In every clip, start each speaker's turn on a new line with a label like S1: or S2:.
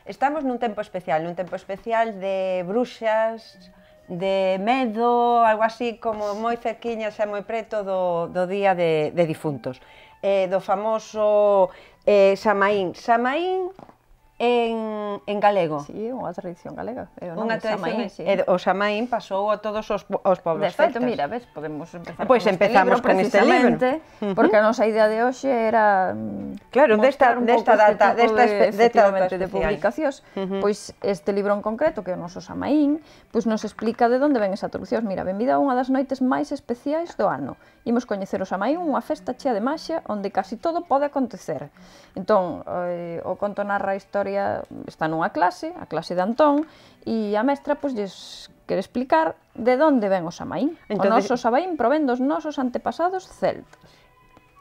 S1: Estamos nun tempo especial de bruxas, de medo, algo así como moi cerquiña xa moi preto do Día de Difuntos. Do famoso Samaín. Samaín en galego.
S2: Sí, unha tradición galega.
S1: Unha tradición, o Samaín pasou a todos os pobos
S2: celtas. De feito, mira, ves, podemos empezar
S1: con este libro,
S2: porque a nosa idea de hoxe era
S1: mostrar un pouco
S2: este tipo de publicacións. Pois este libro en concreto, que é o noso Samaín, pois nos explica de onde ven esa traducción. Mira, benvida a unha das noites máis especiais do ano. Imos coñecer o Samaín, unha festa chea de maxia onde casi todo pode acontecer. Entón, o conto narra a historia, está nunha clase, a clase de Antón, e a mestra pois lles quere explicar de onde ven o Samaín. O noso Samaín provén dos nosos antepasados celtas.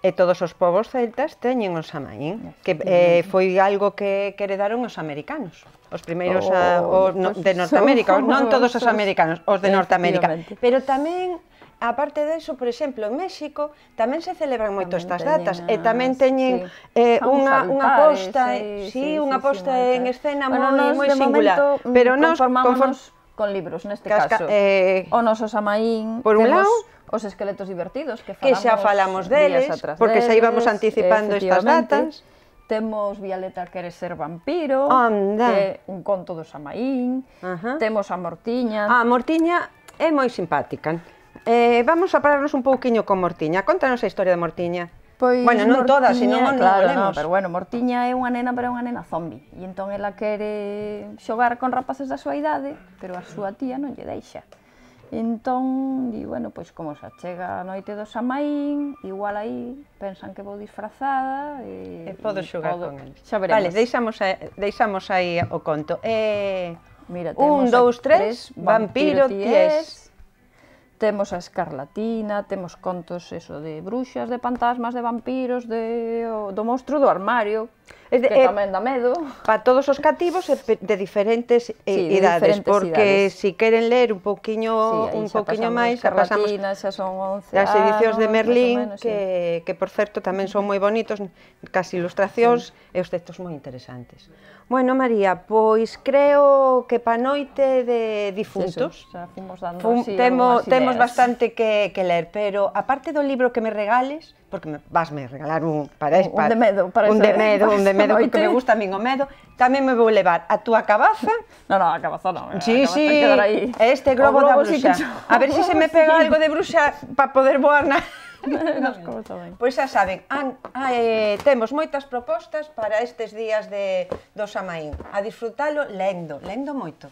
S1: E todos os povos celtas teñen o Samaín, que foi algo que heredaron os americanos. Os primeiros de Norteamérica, non todos os americanos, os de Norteamérica. Pero tamén, aparte deso, por exemplo, en México tamén se celebran moito estas datas e tamén teñen unha posta en escena moi singular.
S2: Pero nos conformámonos con libros, neste caso. O noso Samaín, temos os esqueletos divertidos, que
S1: xa falamos deles, porque xa íbamos anticipando estas datas.
S2: Temos Violeta quere ser vampiro, que é un conto do Samaín. Temos a Mortiña.
S1: A Mortiña é moi simpática. Vamos a pararnos un pouquiño con Mortiña. Contanos a historia de Mortiña. Bueno, non toda, senón non o lemos.
S2: Pero bueno, Mortiña é unha nena, pero é unha nena zombi. E entón ela quere xogar con rapaces da súa idade, pero a súa tía non lle deixa. Entón, di, bueno, pois como se chega a noite do Samaín, igual aí pensan que vou disfrazada
S1: e podo xogar con eles.
S2: Xa veremos.
S1: Vale, deixamos aí o conto.
S2: Mira,
S1: un, dous, tres, vampiro ties.
S2: Temos a Escarlatina, temos contos de bruxas, de fantasmas, de vampiros, do monstro do armario, que tamén dá medo.
S1: Para todos os cativos de diferentes idades, porque se queren ler un pouquiño máis, pasamos as edicións de Merlín, que por certo tamén son moi bonitos, cas ilustracións e os textos moi interesantes. Bueno, María, pois creo que pa noite de difuntos temos bastante que ler, pero aparte do libro que me regales, porque vasme regalar un de medo, porque me gusta a min o medo, tamén me vou levar a túa cabaza.
S2: Non, a cabaza non,
S1: sí, este globo da bruxa. A ver se me pega algo de bruxa para poder voar na... Pois xa saben, temos moitas propostas para estes días do Samaín. A disfrutalo lendo moito.